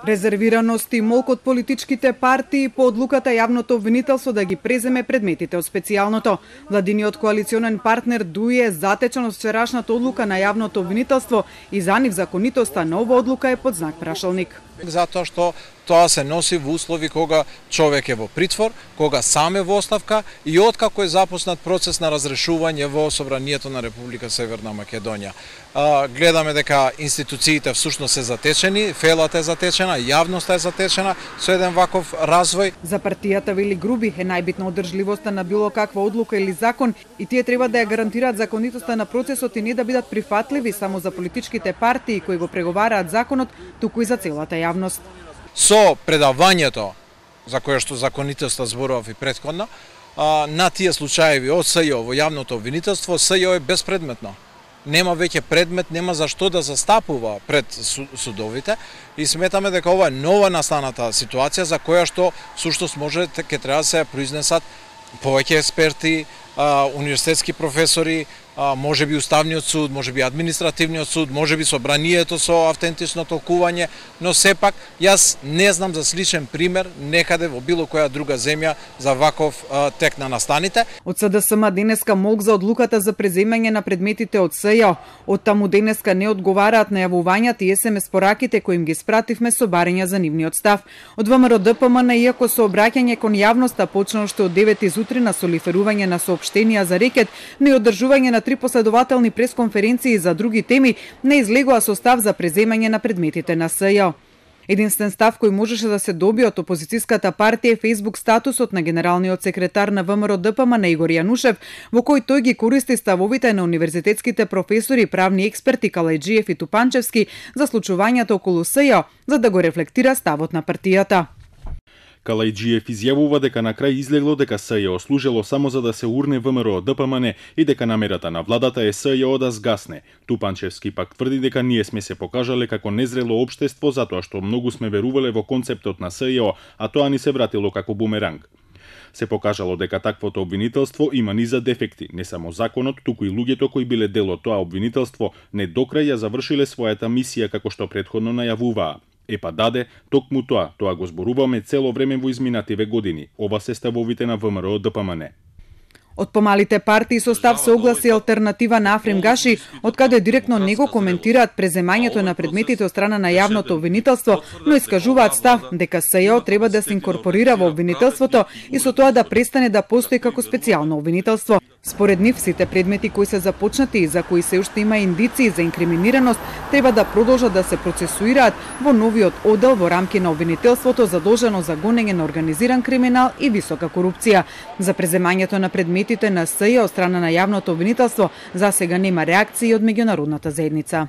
Резервираност и молк од политичките партии по одлуката јавното обвинителство да ги преземе предметите од специјалното. Владиниот коалиционен партнер ДУИ е затечен од вчерашната одлука на јавното обвинителство и за нив законитоста на ова одлука е под знак прашалник. Затоа што тоа се носи во услови кога човек е во притвор, кога сам е во оставка и откако е започнат процес на разрешување во Собранието на Република Северна Македонија. Гледаме дека институциите всушност се затечени, фелата е затечена, јавноста е затечена со еден ваков развој. За партијата Вели Груби е најбитна одржливоста на било каква одлука или закон и тие треба да ја гарантираат законитоста на процесот и не да бидат прифатливи само за политичките партии кои го преговараат законот, туку и за целата јавност. Со предавањето, за кое што законитоста зборував и претходно, на тие случаеви од СЈО во јавното обвинителство, СЈО е безпредметно. Нема веќе предмет, нема за што да застапува пред судовите и сметаме дека ова е нова настаната ситуација за која што всушност може ќе треба да се произнесат повеќе експерти, универзитетски професори, може би Уставниот суд, може би Административниот суд, може би Собранието со автентично толкување, но сепак јас не знам за сличен пример некаде во било која друга земја за ваков тек на настаните. Од СДСМ денеска молк за одлуката за преземање на предметите од СЈО. Од таму денеска не одговараат на јавувањата и СМС пораките кои им ги спративме со барања за нивниот став. Од ВМРО ДПМН, иако со обраќање кон јавноста почна уште од 9 изутрина со лиферување на соопштенија за рекет, но и одржување на 3 последователни пресконференции за други теми, не излегува со став за преземање на предметите на СЈО. Единствен став кој можеше да се добие од опозицијската партија е Facebook статусот на генералниот секретар на ВМРО ДПМН Игор Јанушев, во кој тој ги користи ставовите на универзитетските професори, правни експерти Калајџиев и Тупанчевски за случувањата околу СЈО, за да го рефлектира ставот на партијата. Калајџиев изјавува дека на крај излегло дека СЈО служило само за да се урне ВМРО ДПМН и дека намерата на владата е СЈО да сгасне. Тупанчевски пак тврди дека ние сме се покажале како незрело општество затоа што многу сме верувале во концептот на СЈО, а тоа ни се вратило како бумеранг. Се покажало дека таквото обвинителство има низа дефекти, не само законот, туку и луѓето кои биле дел од тоа обвинителство не докрај ја завршиле својата мисија како што претходно најавуваа. Епа даде, токму тоа го зборуваме цело време во изминативе години. Ова се ставовите на ВМРО ДПМН. Од помалите партии со став се огласи алтернатива на Африм Гаши, од каде директно не го коментираат преземањето на предметите од страна на јавното обвинителство, но искажуваат став дека СЈО треба да се инкорпорира во обвинителството и со тоа да престане да постои како специјално обвинителство. Според нив, сите предмети кои се започнати и за кои се уште има индиции за инкриминираност, треба да продолжат да се процесуираат во новиот оддел во рамки на обвинителството задолжено за гонење на организиран криминал и висока корупција. За преземањето на предметите на СЈО од страна на јавното обвинителство засега нема реакции од меѓународната заедница.